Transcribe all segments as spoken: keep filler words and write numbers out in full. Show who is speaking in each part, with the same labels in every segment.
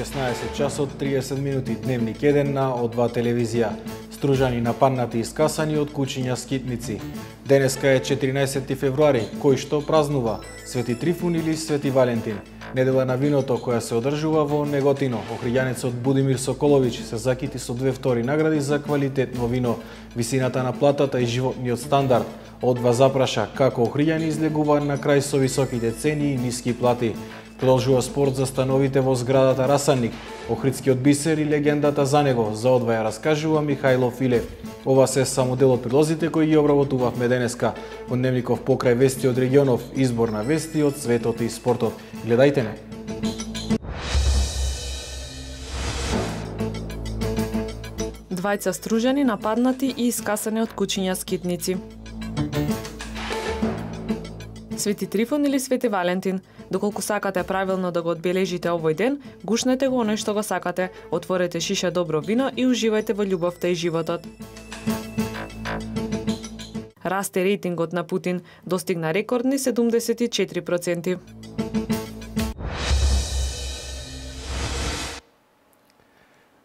Speaker 1: шеснаесет часот триесет минути, Дневник еден на О два телевизија. Стружани нападнати и скасани од кучиња скитници. Денеска е четиринаесети февруари, кој што празнува Свети Трифун или Свети Валентин. Недела на виното која се одржува во Неготино. Охријанецот Будимир Соколовиќ се закити со две втори награди за квалитетно вино, висината на платата и животниот стандард. О два запраша како охријани излегува на крај со високите цени и ниски плати. Продолжува спорт за становите во зградата Расанник. Охридскиот бисер и легендата за него, за О два ја раскажува Михајло Филев. Ова се само дел од прилозите кои ги обработувавме денеска. Во Дневников покрај вести од регионов, избор на вести од светот и спортот. Гледајте не!
Speaker 2: Двајца стружани нападнати и искасани од кучиња скитници. Свети Трифун или Свети Валентин? Доколку сакате правилно да го одбележите овој ден, гушнете го оној што го сакате, отворете шиша добро вино и уживајте во љубовта и животот. Расте рейтингот на Путин, достигна рекордни седумдесет и четири проценти.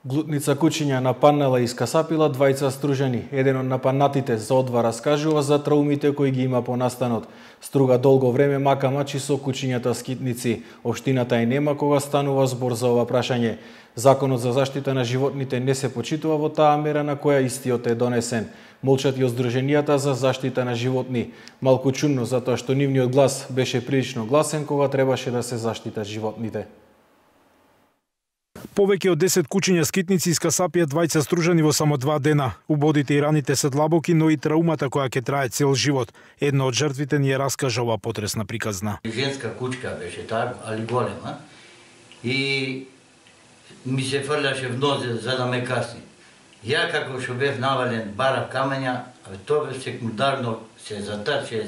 Speaker 1: Глутница кучиња нападнала и искасапила двајца стружани. Еден од нападнатите за О два раскажува за траумите кои ги има по настанот. Струга долго време мака мачи со кучињата скитници. Општината и нема кога станува збор за ова прашање. Законот за заштита на животните не се почитува во таа мера на која истиот е донесен. Молчат и од здруженијата за заштита на животни. Малку чудно затоа што нивниот глас беше прилично гласен кога требаше да се заштитат животните.
Speaker 3: Повеќе од десет кучиња скитници искасапија двајца стружани во само два дена. Убодите и раните се длабоки, но и траумата која ќе трае цел живот. Една од жртвите ни ја раскажа ова потресна приказна.
Speaker 4: Женска кучка беше таа, али голема. И ми се фрлаше в нозе за да ме касни. Ја како што бев навален барав камења, а тоа секундарно се затаче,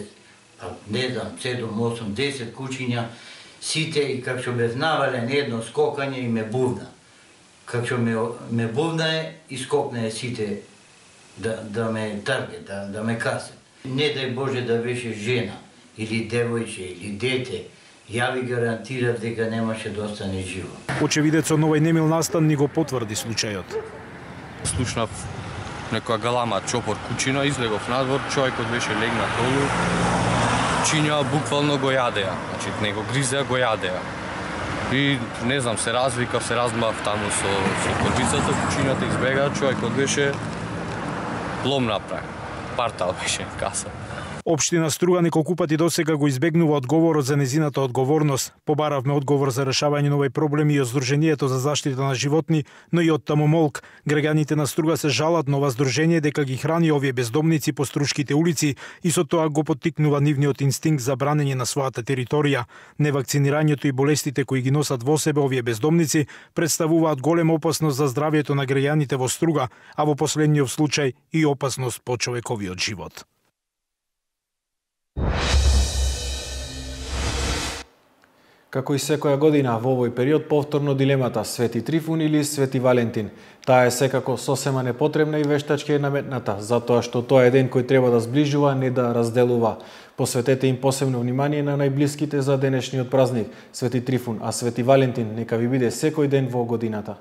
Speaker 4: не знам, седум, осум, десет кучиња, сите и како што бев навален едно скокање и ме бувна. Како што ме, ме бувна и скокна сите да, да ме трге, да, да ме касе. Не дај Боже да беше жена, или девојче, или дете, ја ви гарантирав дека немаше да остане живо.
Speaker 3: Очевидецот на овој немил настан ни го потврди случајот.
Speaker 5: Слушнав некоја галама чопор кучина, излегов надвор, човекот беше легнат долу. Кучиња буквално го јадеа, значи не го гризеа, го јадеа. И не знам, се развикав, се размав таму со, со котвицата, кучињата избегаа, човекот беше лом направен. Партал беше каса.
Speaker 3: Општина Струга неколку пати досега го избегнува одговорот за незината одговорност. Побаравме одговор за решавање на овој проблем и од Сдруженијето за заштита на животни, но и од Тамомолк. Граѓаните на Струга се жалат на ова здружение дека ги храни овие бездомници по струшките улици и со тоа го поттикнува нивниот инстинкт за бранење на својата територија. Невакцинирањето и болестите кои ги носат во себе овие бездомници представуваат голема опасност за здравјето на граѓаните во Струга, а во последниот случај и опасност по човековиот живот.
Speaker 1: Како и секоја година во овој период повторно дилемата Свети Трифун или Свети Валентин. Таа е секако сосема непотребна и вештачки е наметната, затоа што тоа е ден кој треба да зближува, не да разделува. Посветете им посебно внимание на најблиските за денешниот празник Свети Трифун, а Свети Валентин нека ви биде секој ден во годината.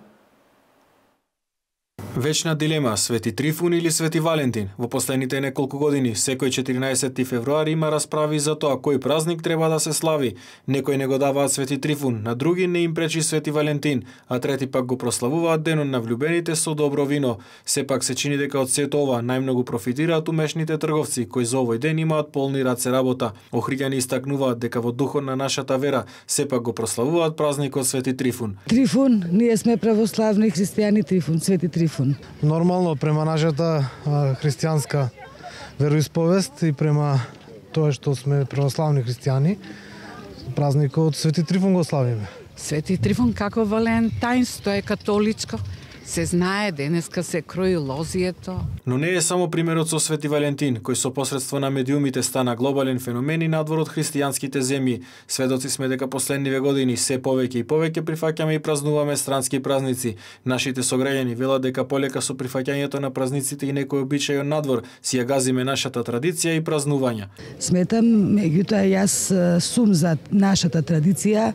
Speaker 1: Вечна дилема Свети Трифун или Свети Валентин. Во последните неколку години секој четиринаесети февруари има расправи за тоа кој празник треба да се слави. Некои не го даваат Свети Трифун, на други не им пречи Свети Валентин, а трети пак го прославуваат денот на влюбените со добро вино. Сепак се чини дека од сето ова најмногу профитираат умешните трговци кои за овој ден имаат полни раце работа. Охриѓани истакнуваат дека во духот на нашата вера сепак го прославуваат празникот Свети Трифун.
Speaker 6: Трифун, ние сме православни христијани Трифун, Свети Трифун.
Speaker 7: Нормално према нашата христијанска вероисповест и према тоа што сме православни христијани, празникот Свети Трифун го славиме.
Speaker 8: Свети Трифун како Валентајнс, тоа е католичко. Се знае, денеска се крои лозието.
Speaker 1: Но не е само примерот со Свети Валентин, кој со посредство на медиумите стана глобален феномен и надвор од христијанските земји. Сведоци сме дека последниве години се повеќе и повеќе прифаќаме и празнуваме странски празници. Нашите сограѓани велат дека полека со прифаќањето на празниците и некој обичај од надвор си ја газиме нашата традиција и празнувања.
Speaker 6: Сметам, меѓутоа јас сум за нашата традиција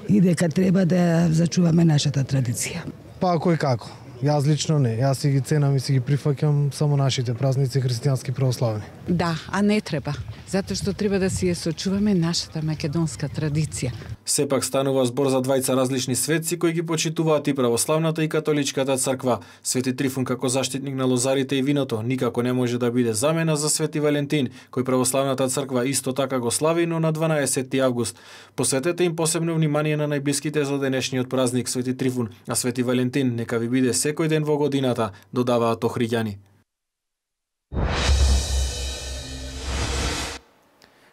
Speaker 6: и дека треба да зачуваме нашата традиција.
Speaker 7: Па кој како? Јас лично не. Јас си ги ценам и си ги прифаќам само нашите празници христијански православни.
Speaker 8: Да, а не треба. Затоа што треба да си ја сочуваме нашата македонска традиција.
Speaker 1: Сепак станува збор за двајца различни светци кои ги почитуваат и православната и католичката црква. Свети Трифун како заштитник на лозарите и виното никако не може да биде замена за Свети Валентин, кој православната црква исто така го слави, но на дванаесети август. Посветете им посебно внимание на најблиските за денешниот празник Свети Трифун, а Свети Валентин нека ви биде секој ден во годината, додаваат охриѓани.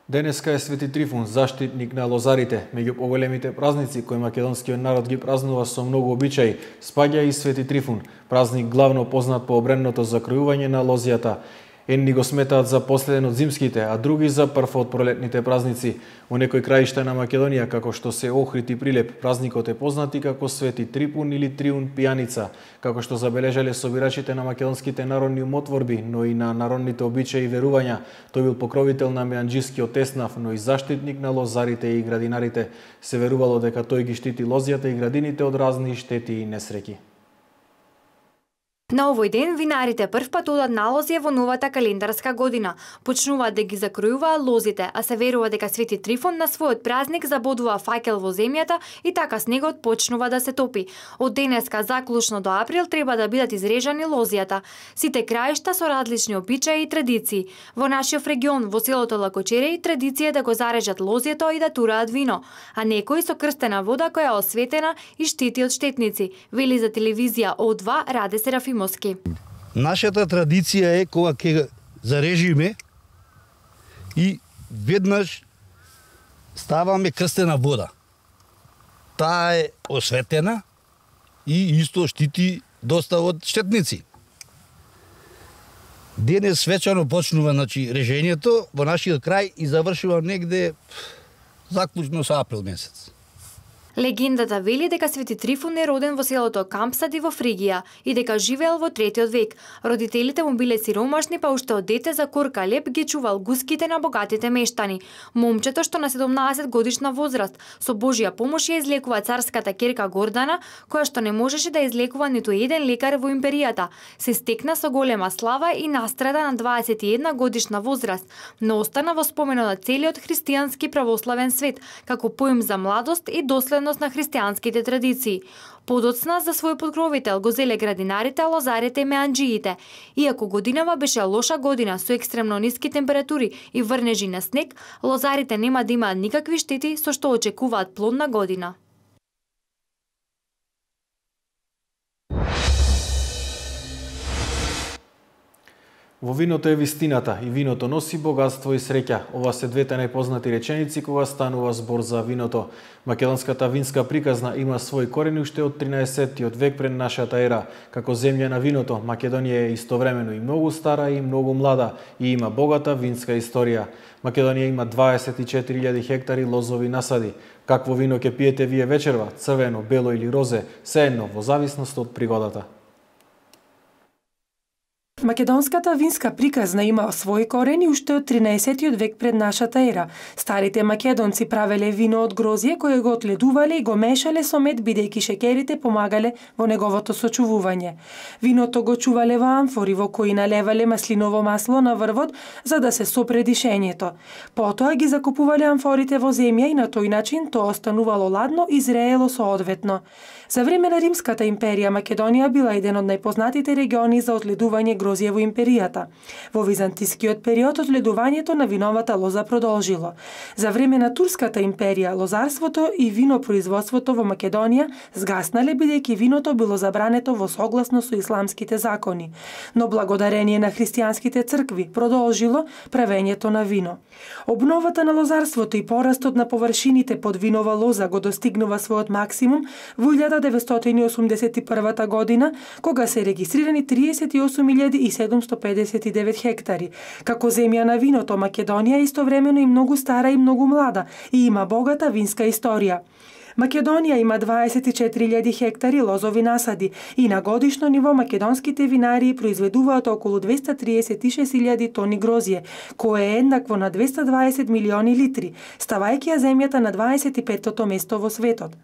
Speaker 1: Денеска е Свети Трифун, заштитник на лозарите. Меѓу поголемите празници кои македонскиот народ ги празнува со многу обичаи, спаѓа и Свети Трифун, празник главно познат по обредното закројување на лозијата. Едни го сметаат за последен од зимските, а други за прв од пролетните празници. Во некои краишта на Македонија, како што се Охрид и Прилеп, празникот е познат и како Свети Трипун или Триун пијаница, како што забележале собирачите на македонските народни умотворби, но и на народните обичаи и верувања. Тој бил покровител на меанџискиот еснав, но и заштитник на лозарите и градинарите. Се верувало дека тој ги штити лозијата и градините од разни штети и несреќи.
Speaker 9: На овој ден винарите прв пат одат на лозје во новата календарска година. Почнуваат да ги закројуваат лозите, а се верува дека Свети Трифун на својот празник забодува факел во земјата и така снегот почнува да се топи. Од денеска заклучно до април треба да бидат изрежани лозијата. Сите краишта со различни обичаи и традиции. Во нашиот регион, во селото Лакочереј, традиција е да го зарежат лозието и да тураат вино, а некои со крстена вода која е осветена и штити од штетници, вели за телевизија О два Раде Серафим.
Speaker 10: Нашата традиција е кога ќе зарежиме и веднаш ставаме крстена вода. Таа е осветена и исто штити доста од штетници. Денес свечано почнува, значи, режењето во нашиот крај и завршува негде заклучно со април месец.
Speaker 9: Легендата вели дека Свети Трифун е роден во селото Кампсади во Фригија и дека живеел во третиот век. Родителите му биле сиромашни, па уште од дете за корка леп ги чувал гуските на богатите мештани. Момчето што на седумнаесет годишна возраст со Божја помош ја излекува царската ќерка Гордана, која што не можеше да излекува ниту еден лекар во империјата. Се стекна со голема слава и настрада на дваесет и една годишна возраст, но остана во споменот на целиот христијански православен свет, како поим за младост и доследност на христијанските традиции. Подоцна за свој подкровител го зеле градинарите, лозарите и меанџиите. Иако годинава беше лоша година со екстремно ниски температури и врнежи на снег, лозарите нема да имаат никакви штети, со што очекуваат плодна година.
Speaker 1: Во виното е вистината и виното носи богатство и среќа. Ова се двете најпознати реченици кога станува збор за виното. Македонската винска приказна има свој корени уште од тринаесеттиот век пред нашата ера. Како земја на виното, Македонија е истовремено и многу стара и многу млада и има богата винска историја. Македонија има дваесет и четири илјади хектари лозови насади. Какво вино ќе пиете вие вечерва? Црвено, бело или розе? Сеедно, во зависност од пригодата.
Speaker 11: Македонската винска приказна има свој корени уште од тринаесеттиот век пред нашата ера. Старите македонци правеле вино од грозје кое го отледувале и го мешале со мед, бидејќи шеќерите помагале во неговото сочувување. Виното го чувале во амфори во кои налевале маслиново масло на врвот за да се сопре дишењето. Потоа ги закупувале амфорите во земја и на тој начин тоа останувало ладно и зреело соодветно. За време на Римската империја Македонија била еден од најпознатите региони за отледување грозје грозје во империјата. Во византискиот период одледувањето на виновата лоза продолжило. За време на Турската империја, лозарството и винопроизводството во Македонија згаснале бидејќи виното било забрането во согласно со исламските закони, но благодарение на христијанските цркви продолжило правењето на вино. Обновата на лозарството и порастот на површините под винова лоза го достигнува својот максимум во илјада деветстотини осумдесет и прва година, кога се регистрирани триесет и осум илјади седумстотини педесет и девет хектари. Како земја на виното, Македонија е истовремено и многу стара и многу млада и има богата винска историја. Македонија има дваесет и четири илјади хектари лозови насади и на годишно ниво македонските винарии произведуваат околу двеста триесет и шест илјади тони грозје, кое е еднакво на двеста дваесет милиони литри, ставајќи ја земјата на дваесет и петтото место во светот.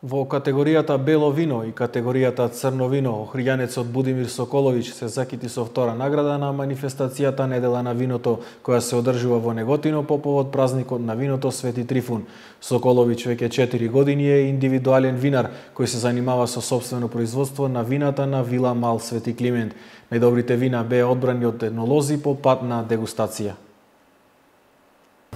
Speaker 1: Во категоријата бело вино и категоријата црно вино, охријанецот Будимир Соколовиќ се закити со втора награда на манифестацијата Недела на виното, која се одржува во Неготино по повод празникот на виното Свети Трифун. Соколовиќ веќе четири години е индивидуален винар кој се занимава со сопствено производство на вината на Вила Мал Свети Климент. Најдобрите вина беа одбрани од етнолози по пат на дегустација.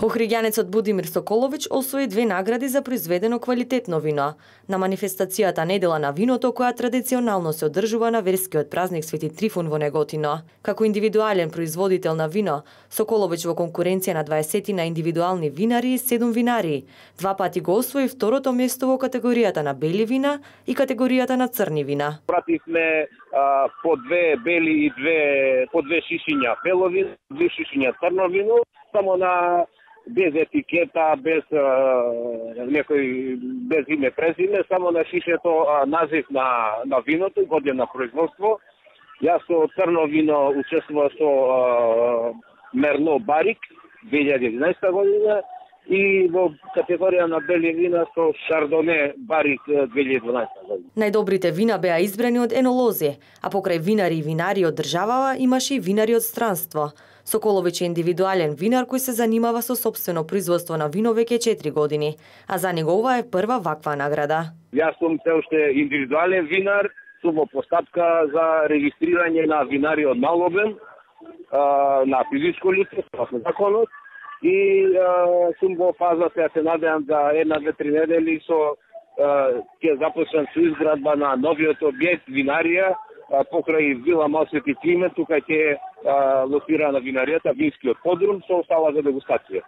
Speaker 12: Охријанецот Будимир Соколовиќ освои две награди за произведено квалитетно вино на манифестацијата Недела на виното, која традиционално се одржува на верскиот празник Свети Трифун во Неготино. Како индивидуален производител на вино, Соколовиќ во конкуренција на дваесет на индивидуални винари и седум винари, два пати го освои второто место во категоријата на бели вина и категоријата на црни вина.
Speaker 13: Пративме а, по две бели и две по две шишиња бело вино, две шишиња црно вино, само на без етикета, без а, некој без име презиме, само на шишето а, назив на на виното, година на производство. Јас со црно вино учествував со а, Мерно Барик две илјади и единаесета година и во категорија на бели вина со Шардоне Барик две илјади и дванаесета година.
Speaker 12: Најдобрите вина беа избрани од енолози, а покрај винари и винари од државава имаше и винари од странство. Соколовиќ е индивидуален винар кој се занимава со сопствено производство на вино веќе четири години, а за него ова е прва ваква награда.
Speaker 13: Јас сум се уште индивидуален винар, сум во постапка за регистрирање на винари од мал обем, на физичко лице, согласно законот, и а, сум во фаза, сега се надевам за една-две-три недели со ќе започнам со изградба на новиот објект винарија покрај Вила Мал Свети Климент, тука ќе локира на винаријата винскиот подрум со остала за дегустација.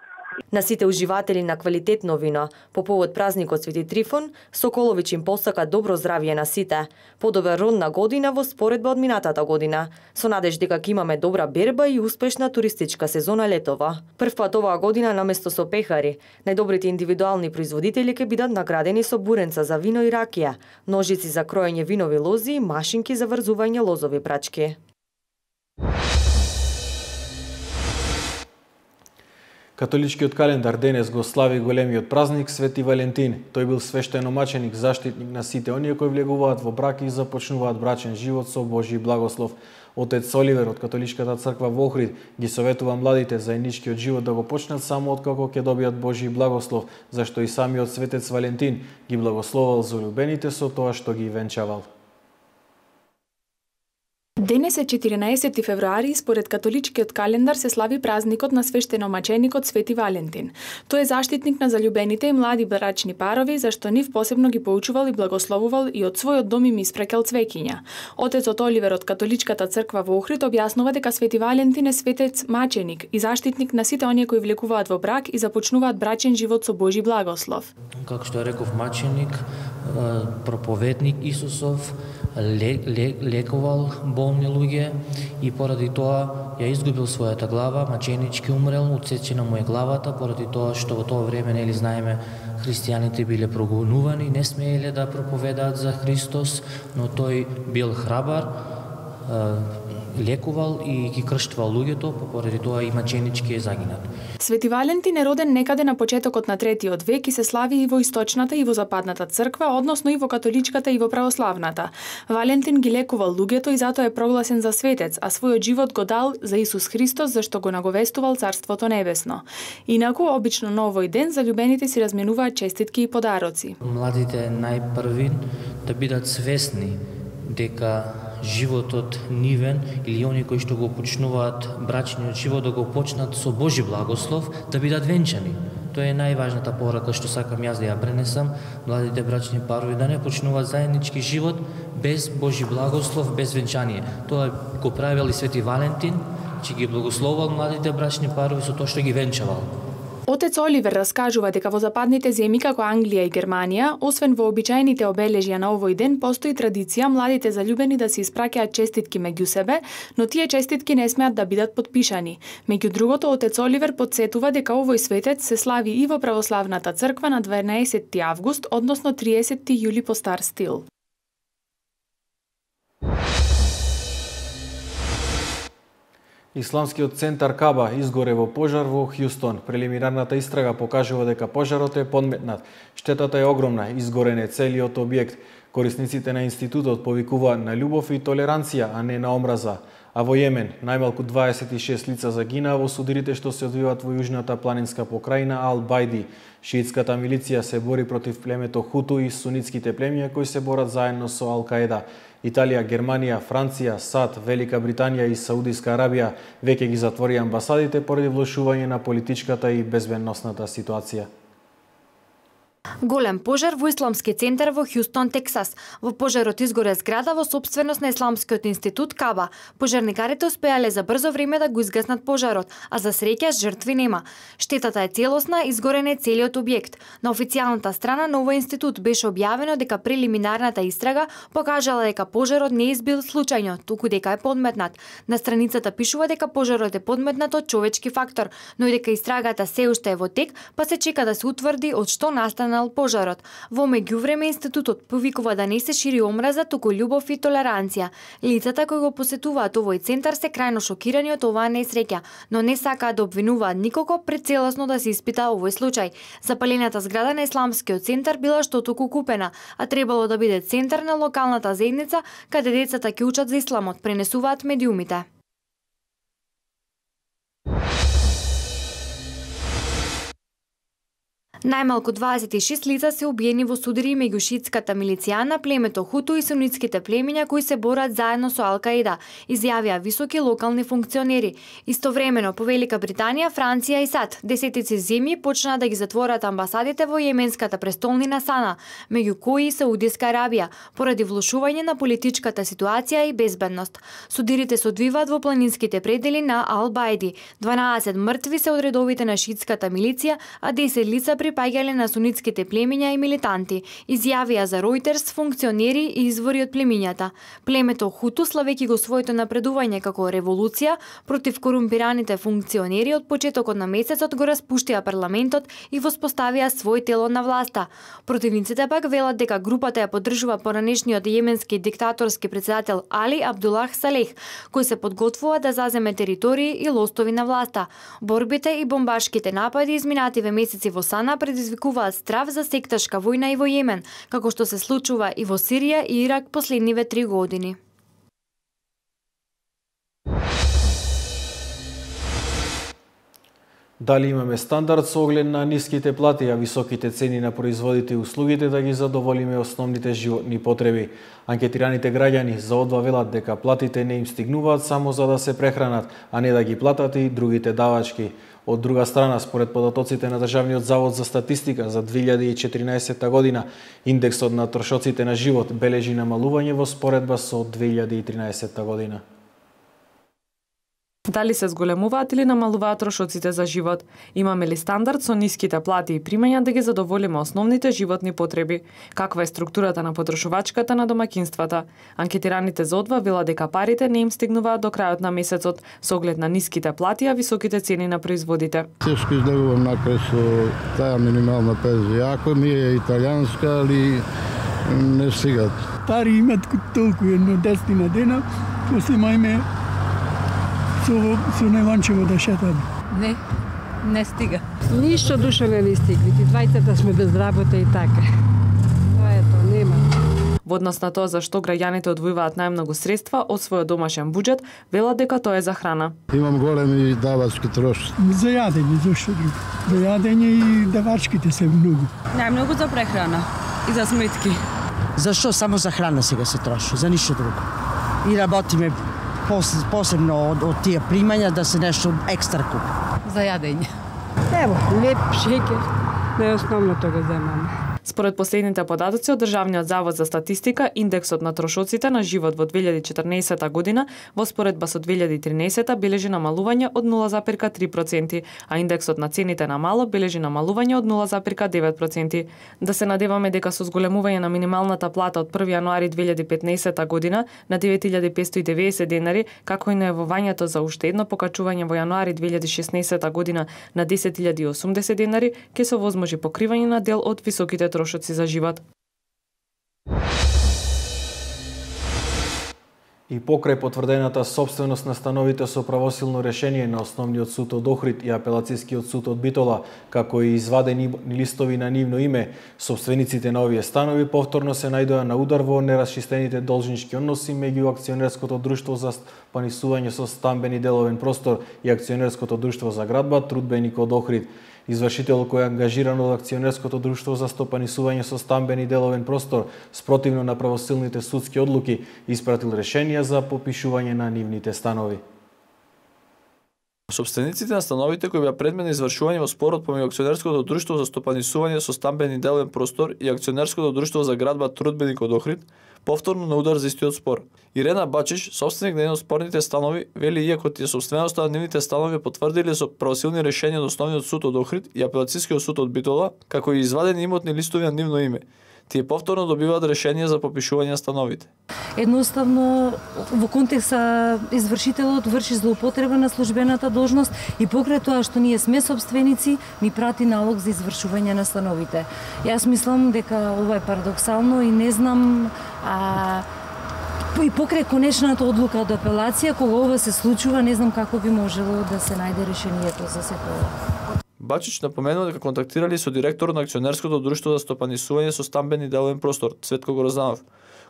Speaker 12: На сите уживатели на квалитетно вино по повод празникот Свети Трифун, Соколовиќ им посака добро здравје на сите, подобра родна година во споредба од минатата година, со надеж дека ќе имаме добра берба и успешна туристичка сезона летова. Првпат оваа година наместо со пехари, најдобрите индивидуални производители ќе бидат наградени со буренца за вино и ракија, ножици за кроење винови лози и машинки за врзување лозови прачки.
Speaker 1: Католичкиот календар денес го слави големиот празник Свети Валентин. Тој бил свештеномаченик, заштитник на сите оние кои влегуваат во брак и започнуваат брачен живот со Божји благослов. Отец Оливер од Католичката црква во Охрид ги советува младите заедничкиот живот да го почнат само откако ќе добијат Божји благослов, зашто и самиот светец Валентин ги благословал заљубените со тоа што ги венчавал.
Speaker 14: Денес е четиринаесети февруари и според католичкиот календар се слави празникот на свештеномаченикот Свети Валентин. Тој е заштитник на заљубените и млади брачни парови, зашто нив посебно ги поучувал и благословувал и од својот дом им испрекал цвеќиња. Отецот Оливер од Католичката црква во Охрид објаснува дека Свети Валентин е светец маченик и заштитник на сите оние кои влекуваат во брак и започнуваат брачен живот со Божји благослов.
Speaker 15: Како што реков, маченик, проповедник Исусов, лекувал болни луѓе и поради тоа ја изгубил својата глава, маченички умрел, отсечена му е главата, поради тоа што во тоа време, нели знаеме, христијаните биле прогонувани, не смееле да проповедаат за Христос, но тој бил храбар, лекувал и ги крштувал луѓето, поради тоа и маченички е загинат.
Speaker 14: Свети Валентин е роден некаде на почетокот на третиот век и се слави и во источната и во западната црква, односно и во католичката и во православната. Валентин ги лекувал луѓето и затоа е прогласен за светец, а својот живот го дал за Исус Христос, зашто го наговестувал Царството небесно. Инаку, обично на овој ден, заљубените си разменуваат честитки и подароци.
Speaker 15: Младите најпрви да бидат свесни дека животот нивен или они кои што го почнуваат брачниот живот да го почнат со Божи благослов, да бидат венчани. Тоа е најважната порака што сакам јас да ја пренесам, младите брачни парови да не почнуваат заеднички живот без Божи благослов, без венчание. Тоа го правил и Свети Валентин, че ги благословувал младите брачни парови со тоа што ги венчавал.
Speaker 14: Отец Оливер раскажува дека во западните земји како Англија и Германија, освен во обичаените обележја на овој ден, постои традиција младите заљубени да се испраќаат честитки меѓу себе, но тие честитки не смеат да бидат потпишани. Меѓу другото, отец Оливер потсетува дека овој светец се слави и во православната црква на дванаесетти август, односно триесетти јули по стар стил.
Speaker 1: Исламскиот центар Каба изгоре во пожар во Хјустон. Прелиминарната истрага покажува дека пожарот е подметнат. Штетата е огромна, изгорен е целиот објект. Корисниците на институтот повикуваат на љубов и толеранција, а не на омраза. А во Јемен, најмалку дваесет и шест лица загинаа во судирите што се одвиваат во јужната планинска покрајна Ал-Бајди. Шиитската милиција се бори против племето Хуту и сунитските племја кои се борат заедно со Ал-Каеда. Италија, Германија, Франција, САД, Велика Британија и Саудиска Арабија веќе ги затвори амбасадите поради влошување на политичката и безбедносната ситуација.
Speaker 9: Голем пожар во Исламски центар во Хјустон, Тексас. Во пожарот изгоре зграда во сопственост на Исламскиот институт Каба. Пожарникарите успеале за брзо време да го изгаснат пожарот, а за среќа жртви нема. Штетата е целосна, изгорен е целиот објект. На официјалната страна на овој институт беше објавено дека прелиминарната истрага покажала дека пожарот не избил случајно, туку дека е подметнат. На страницата пишува дека пожарот е подметнат од човечки фактор, но и дека истрагата се уште е во тек, па се чека да се утврди од што настана пожарот. Во меѓувреме институтот повикува да не се шири омраза, туку љубов и толеранција. Лицата кои го посетуваат овој центар се крајно шокирани од оваа несреќа, но не сакаат да обвинуваат никого пред целосно да се испита овој случај. Запалената зграда на Исламскиот центар била штотуку купена, а требало да биде центар на локалната заедница каде децата ќе учат за исламот, пренесуваат медиумите. Најмалку дваесет и шест лица се убиени во судири меѓу шиитската милиција на племето Хуту и сунитските племиња кои се борат заедно со Ал-Каеда, изјавија високи локални функционери. Истовремено по Велика Британија, Франција и САД десетици земји почнаа да ги затворат амбасадите во јеменската престолнина Сана, меѓу кои и Саудиска Арабија, поради влошување на политичката ситуација и безбедност. Судирите се одвиваат во планинските предели на Ал-Бајди. дванаесет мртви се од редовите на шиитската милиција, а десет лица при припаѓале на сунитските племиња и милитанти, изјавија за Ројтерс функционери и извори од племињата. Племето Хуту, славејќи го своето напредување како револуција против корумпираните функционери, од почетокот на месецот го распуштија парламентот и воспоставија свој тело на власта. Противниците пак велат дека групата ја поддржува поранешниот јеменски диктаторски претседател Али Абдулах Салех, кој се подготвува да заземе територии и лостови на власта. Борбите и бомбашките напади изминативе месеци во Сана предизвикуваат страв за секташка војна и во Јемен, како што се случува и во Сирија и Ирак последниве три години.
Speaker 1: Дали имаме стандард со оглед на ниските плати, а високите цени на производите и услугите да ги задоволиме основните животни потреби? Анкетираните граѓани за одва велат дека платите не им стигнуваат само за да се прехранат, а не да ги платат и другите давачки. Од друга страна, според податоците на Државниот завод за статистика за две илјади и четиринаесетта година, индексот на трошоците на живот бележи намалување во споредба со две илјади и тринаесетта година.
Speaker 2: Дали се зголемуваат или намалуваат трошоците за живот? Имаме ли стандард со ниските плати и примања да ги задоволиме основните животни потреби? Каква е структурата на потрошувачката на домакинствата? Анкетираните за одва велат дека парите не им стигнуваат до крајот на месецот со оглед на ниските плати, а високите цени на производите.
Speaker 16: Тешко излегувам накрај со таа минимална пензија. Ако ми е италијанска, али не стигат.
Speaker 17: Пари имат толку едно десетина дена, после мајме со, со Неванчево да шетаме.
Speaker 8: Не, не стига.
Speaker 18: Ништо душа не ни стигли. Двајцата сме без работа и така. Тоа е тоа, нема.
Speaker 2: Во однос на тоа за што граѓаните одвојуваат најмногу средства од својот домашен буџет, велат дека тоа е за храна.
Speaker 16: Имам големи давачки трошоци.
Speaker 17: За јадење, зашто друго. За јадење и давачките се многу.
Speaker 19: Најмногу за прехрана и за сметки.
Speaker 20: Зашто само за храна сега се троши, за ништо друго. И работиме посебно од, од тие примања да се нешто екстра купи.
Speaker 8: За јадење.
Speaker 18: Ево, леп, шеќер. Најосновното го земаме.
Speaker 2: Според последните податоци од Државниот завод за статистика, индексот на трошоците на живот во две илјади и четрнаесета година во споредба со две илјади и тринаесета бележи намалување од нула запирка три проценти, а индексот на цените на мало бележи намалување од нула запирка девет проценти. Да се надеваме дека со зголемување на минималната плата од први јануари две илјади и петнаесета година на девет илјади петстотини и деветдесет денари, како и најавувањето за уште едно покачување во јануари две илјади и шеснаесета година на десет илјади и осумдесет денари, ќе се овозможи покривање на дел од високите трошоци за живот.
Speaker 1: И покрај потврдената собственост на становите со правосилно решение на Основниот суд од Охрид и Апелацискиот суд од Битола, како и извадени листови на нивно име, собствениците на овие станови повторно се најдоа на удар во нерасчистените должнички односи меѓу Акционерското друштво за стопанисување со стамбени деловен простор и Акционерското друштво за градба Трудбеник од Охрид. Извршител кој е ангажиран од Акционерското друштво за стопанисување со стамбени деловен простор, спротивно на правосилните судски одлуки, испратил решенија за попишување на нивните станови.
Speaker 21: Собствениците на становите кои беа предмет на извршување во спорот помеѓу Акционерското друштво за стопанисување со стамбени деловен простор и Акционерското друштво за градба Трудбеник од Охрид, повторно на удар за истиот спор. Ирена Бачиш, собственик на еден од спорните станови, вели иако тие собственоста на нивните станови потврдиле со правосилни решенија од Основниот суд од Охрид и Апелацискиот суд од Битола, како и извадени имотни листови на нивно име. Тие повторно добиваат решение за попишување на становите.
Speaker 22: Едноставно, во контекста извршителот врши злоупотреба на службената должност и покрај тоа што ние сме собственици, ни прати налог за извршување на становите. Јас мислам дека ова е парадоксално и не знам а, и покрај конечната одлука од апелација, кога ова се случува, не знам како би можело да се најде решението за сето ова.
Speaker 21: Бачич напоменува дека контактирали со директорот на Акционерското друштво за стопанисување со стамбени деловен простор, Цветко Грозданов,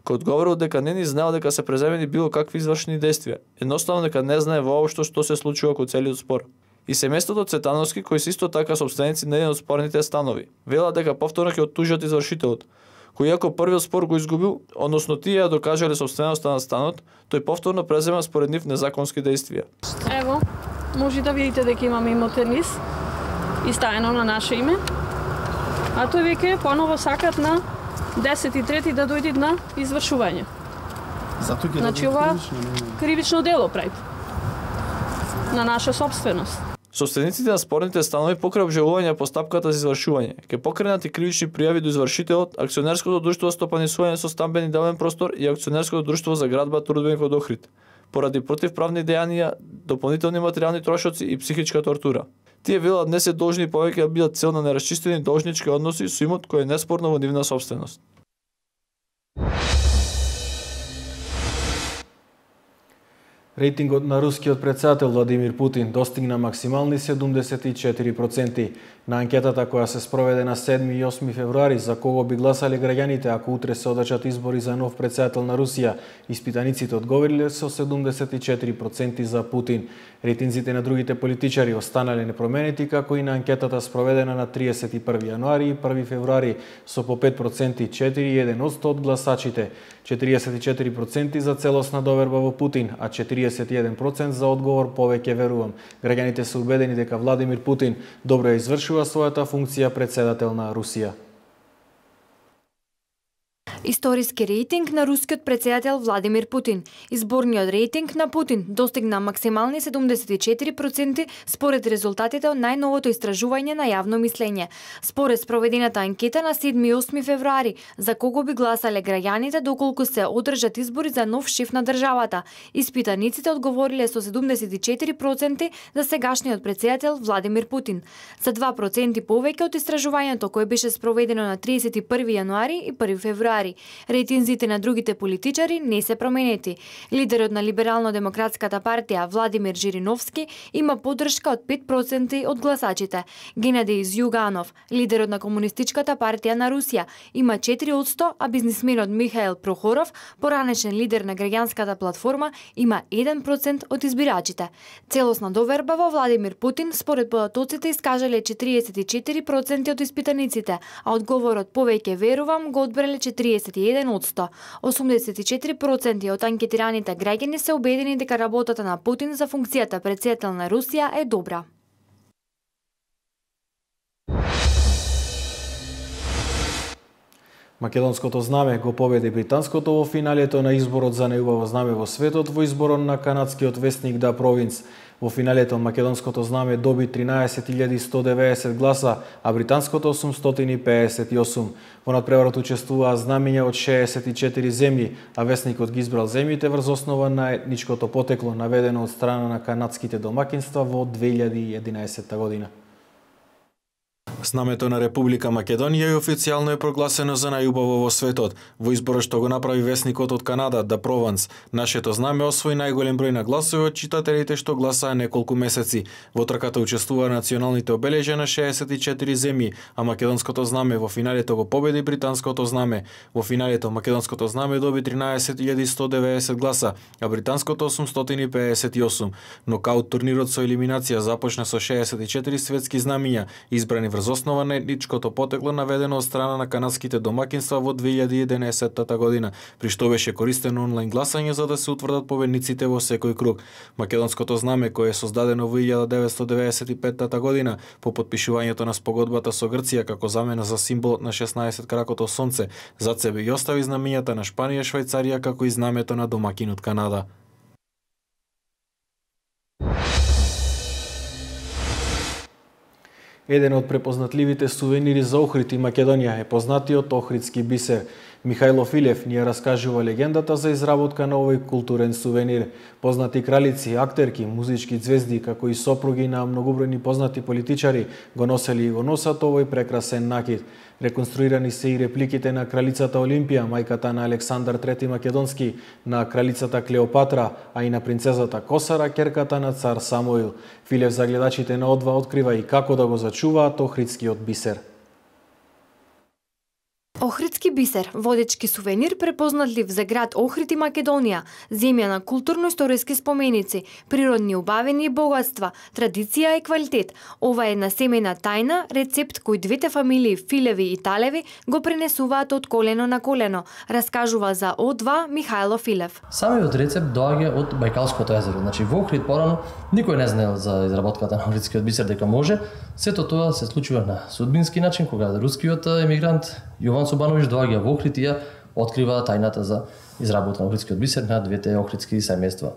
Speaker 21: кој одговорил дека не ни знаел дека се преземени било какви извршени действија, едноставно дека не знае воопшто што се случува кон целиот спор. И семејството Цветановски, кои се исто така собственици на еден од спорните станови, велат дека повторно ќе оттужат извршителот, кој иако првиот спор го изгубил, односно тие ја докажале собственоста на станот, тој повторно презема според нив незаконски действија.
Speaker 23: Ево, може да видите дека имаме имотен лист и стаено на наше име. А тој веќе поново сакат на десет и трети да дојдат на извршување.
Speaker 21: Затоа ќе
Speaker 23: значи ова кривично дело прави на наша собственост.
Speaker 21: Собствениците на спорните станови покрај обжалување постапката за извршување ќе покренат и кривични пријави до извршителот, Акционерското друштво за стопанисување со стамбени деловен простор и Акционерското друштво за градба Трудбеник од Охрид, поради противправни дејанија, дополнителни материјални трошоци и психичка тортура. Тие велат не се должни повеќе да бидат цел на нерасчистени должнички односи со имот кој е неспорно во нивна собственост.
Speaker 1: Рейтингот на рускиот претседател Владимир Путин достигна максимални седумдесет и четири проценти. На анкетата која се спроведе на седми и осми февруари за кого би гласале граѓаните ако утре се одржат избори за нов претседател на Русија, испитаниците одговориле со седумдесет и четири проценти за Путин. Рейтинзите на другите политичари останале непроменети, како и на анкетата спроведена на триесет и први јануари и први февруари со по пет проценти четири и еден одсто од гласачите, четириесет и четири проценти за целосна доверба во Путин, а четириесет и еден проценти за одговор повеќе верувам. Граѓаните се убедени дека Владимир Путин добро ја извршува својата функција претседател на Русија.
Speaker 9: Историски рейтинг на рускиот претседател Владимир Путин. Изборниот рейтинг на Путин достигна максимални седумдесет и четири проценти според резултатите од најновото истражување на јавно мислење. Според спроведената анкета на седми и осми февруари за кого би гласале граѓаните доколку се одржат избори за нов шеф на државата, испитаниците одговориле со седумдесет и четири проценти за сегашниот претседател Владимир Путин. За два проценти повеќе од истражувањето кое беше спроведено на триесет и први јануари и први февруари. февруари. Рейтинзите на другите политичари не се променети. Лидерот на Либерално-демократската партија Владимир Жириновски има поддршка од пет проценти од гласачите. Генадий Зјуганов, лидерот на Комунистичката партија на Русија, има четири одсто, а бизнисменот Михаил Прохоров, поранешен лидер на граѓанската платформа, има еден процент од избирачите. Целосна доверба во Владимир Путин според податоците искажале четириесет и четири проценти од испитаниците, а одговорот повеќе верувам го одбрале четириесет и еден одсто. осумдесет и четири проценти од анкетираните граѓани се убедени дека работата на Путин за функцијата претседател на Русија е добра.
Speaker 1: Македонското знаме го победи британското во финалето на изборот за најубаво знаме во светот во изборот на канадскиот весник Да Провинс. Во финалето македонското знаме доби тринаесет илјади сто деветдесет гласа, а британското осумстотини пеесет и осум. Во надпреварот учествуваа знамиња од шеесет и четири земји, а весникот ги избрал земјите врз основа на етничкото потекло наведено од страна на канадските домакинства во две илјади и единаесетта година. Знамето на Република Македонија е официјално е прогласено за најубаво во светот. Во изборот што го направи весникот од Канада, Да Прованс, нашето знаме освои најголем број на гласови од читателите што гласаа неколку месеци. Во трката учествуваа националните обележја на шеесет и четири земји, а македонското знаме во финалето го победи британското знаме. Во финалето македонското знаме доби тринаесет илјади сто деветдесет гласа, а британското осумстотини пеесет и осум. Нокаут турнирот со елиминација започна со шеесет и четири светски знамиња, избрани врз основа на етничкото потекло наведено од страна на канадските домакинства во две илјади и единаесетта година, при што беше користено онлайн гласање за да се утврдат победниците во секој круг. Македонското знаме, кое е создадено во илјада деветстотини деветдесет и петта година по потпишувањето на спогодбата со Грција како замена за символот на шеснаесет кракото сонце, зад себе и остави знамињата на Шпанија и Швајцарија како и знамето на домакинот Канада. Еден од препознатливите сувенири за Охрид и Македонија е познатиот охридски бисер. Михајло Филев ни ја раскажува легендата за изработка на овој културен сувенир. Познати кралици, актерки, музички ѕвезди, како и сопруги на многобројни познати политичари го носели и го носат овој прекрасен накид. Реконструирани се и репликите на кралицата Олимпија, мајката на Александар трети Македонски, на кралицата Клеопатра, а и на принцезата Косара, ќерката на цар Самуил. Филев за гледачите на О два открива и како да го зачуваат охридскиот бисер.
Speaker 9: Охридски бисер, водечки сувенир препознатлив за град Охрид и Македонија, земја на културно-историски споменици, природни убавини и богатства, традиција и квалитет. Ова е една семејна тајна, рецепт кој двете фамилии Филеви и Талеви го пренесуваат од колено на колено, раскажува за О два Михајло Филев.
Speaker 3: Самиот рецепт доаѓа од Бајкалското езеро. Значи во Охрид порано никој не знаел за изработката на охридскиот бисер дека може. Сето тоа се случува на судбински начин кога рускиот емигрант Јован Собановиќ доаѓа во Охрид и ја открива тајната за изработка на охридскиот бисер на двете охридски семејства.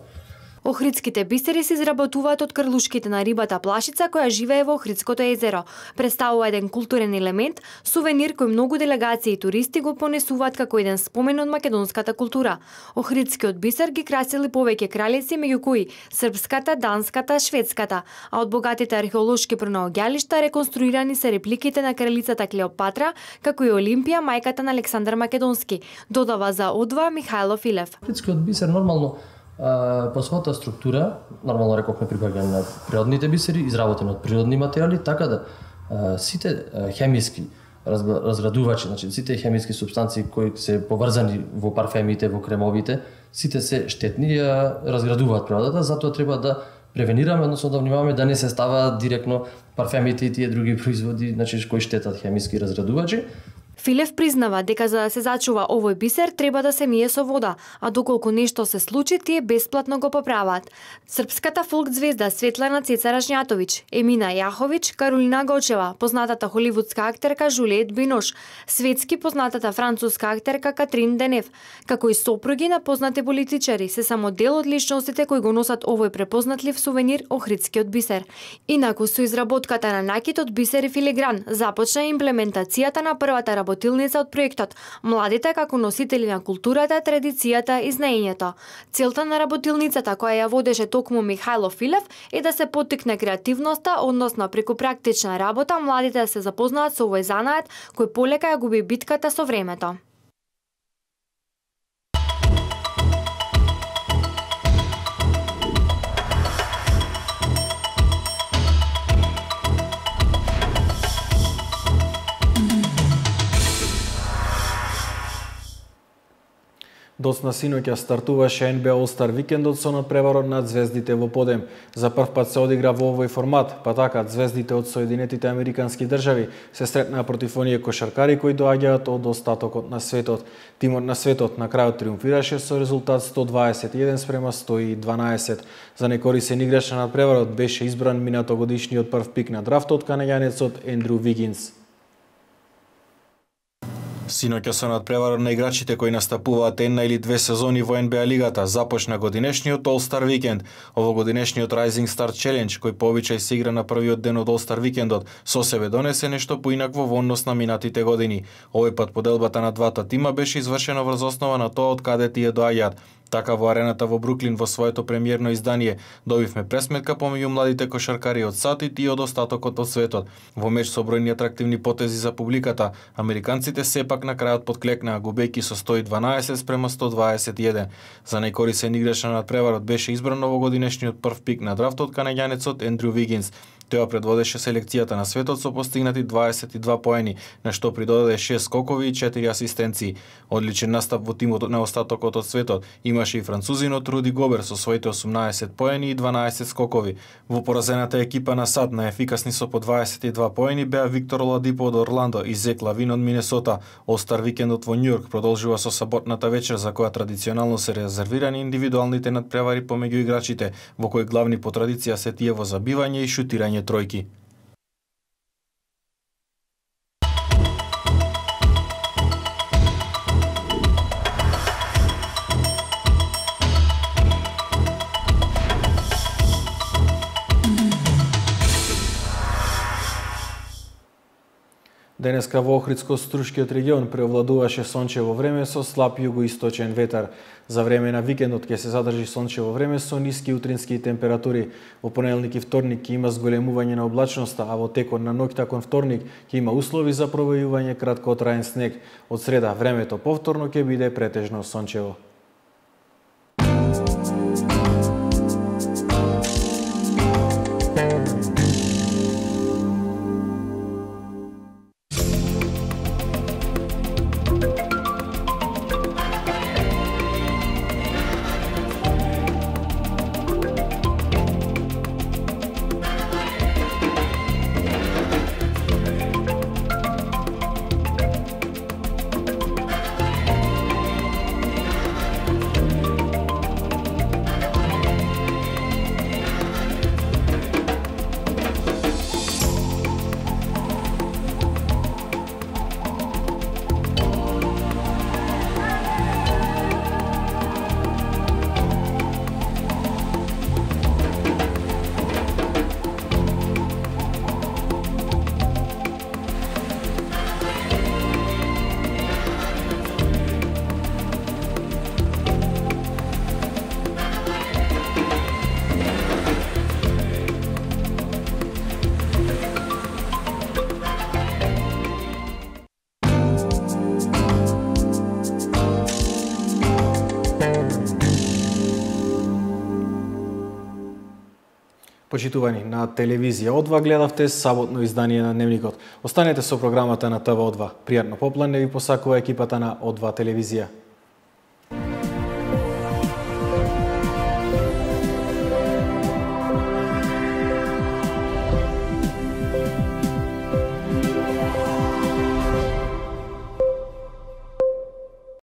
Speaker 9: Охридските бисери се изработуваат од крлушките на рибата плашица која живее во Охридското езеро. Представува еден културен елемент, сувенир кој многу делегации и туристи го понесуваат како еден спомен од македонската култура. Охридскиот бисер ги красили повеќе кралици, меѓу кои српската, данската, шведската, а од богатите археолошки пронаоѓалишта реконструирани се репликите на кралицата Клеопатра, како и Олимпија, мајката на Александар Македонски, додава за О два Михајло Филев.
Speaker 3: Охридскиот бисер нормално по својата структура, нормално рекохме прибагање на природните бисери, изработени од природни материјали, така да сите хемиски разградувачи, значи сите хемиски супстанции кои се поврзани во парфемите, во кремовите, сите се штетни и разградуваат природата, затоа треба да превенираме, односно да внимаваме да не се ставаат директно парфемите и тие други производи, значи кои штетат хемиски разградувачи.
Speaker 9: Филев признава дека за да се зачува овој бисер треба да се мие со вода, а доколку нешто се случи, тие бесплатно го поправаат. Српската фолк ѕвезда Светлана Цеца Рашњатовиќ, Емина Јаховиќ, Каролина Гочева, познатата холивудска актерка Жулиет Бинош, светски познатата француска актерка Катрин Денев, како и сопруги на познати политичари, се само дел од личностите кои го носат овој препознатлив сувенир охридскиот бисер. Инаку со изработката на накид од бисер и филигран започна имплементацијата на првата работилница од проектот Младите како носители на културата, традицијата и знаењето. Целта на работилницата која ја водеше токму Михајло Филев е да се поттикне креативноста, односно преку практична работа младите да се запознаат со овој занаат кој полека ја губи битката со времето.
Speaker 1: Доцна синоќа стартуваше Н Б А All-Star викендот со надпреварот над звездите во подем. За прв пат се одигра во овој формат, па така звездите од Соединетите Американски држави се сретнаа против оние кошаркари кои доаѓаат од остатокот на светот. Тимот на светот на крајот триумфираше со резултат сто дваесет и еден спрема сто и дванаесет. За некорисен играч на надпреварот беше избран минатогодишниот прв пик на драфтот канаѓанецот Ендрю Вигинс. Синоќа со надпреварот на играчите кои настапуваат една или две сезони во Н Б А лигата започна годинешниот All-Star викенд. Овогодинешниот Rising Star Challenge, кој по обичај се игра на првиот ден од All-Star викендот, со себе донесе нешто поинакво во однос на минатите години. Овој пат поделбата на двата тима беше извршена врз основа на тоа од каде тие доаѓаат. Така во арената во Бруклин во своето премиерно издание добивме пресметка помеѓу младите кошаркари од САД и тие од остатокот од светот. Во меч со бројни атрактивни потези за публиката, американците сепак на крајот подклекнаа губејќи со сто и дванаесет спрема сто дваесет и еден. За најкорисен играч на надпреварот беше избран овогодинешниот прв пик на драфтот канаѓанецот Ендрю Вигинс. Тоа предводеше селекцијата на светот со постигнати дваесет и два поени, на што придодаде шест скокови и четири асистенции. Одличен настап во тимот на остатокот од светот имаше и французинот Руди Гобер со своите осумнаесет поени и дванаесет скокови. Во поразената екипа на САД најефикасни со по дваесет и два поени беа Виктор Оладипо од Орландо и Зек Лавин од Минесота. All-Star викендот во Њујорк продолжува со саботната вечер за која традиционално се резервирани индивидуалните надпревари помеѓу играчите, во кои главни по традиција се тие во забивање и шутирање тројки. Денеска во Охридско-Струшкиот регион преовладуваше сончево време со слаб југоисточен ветар. За време на викендот ќе се задржи сончево време со ниски утрински температури. Во понеделник и вторник ќе има зголемување на облачноста, а во текот на ноќта кон вторник ќе има услови за провојување краткотраен снег. Од среда времето повторно ќе биде претежно сончево. Почитувани, на телевизија О два гледавте саботно издание на Дневникот. Останете со програмата на Т В О два. Пријатно попладне ви посакува екипата на О два телевизија.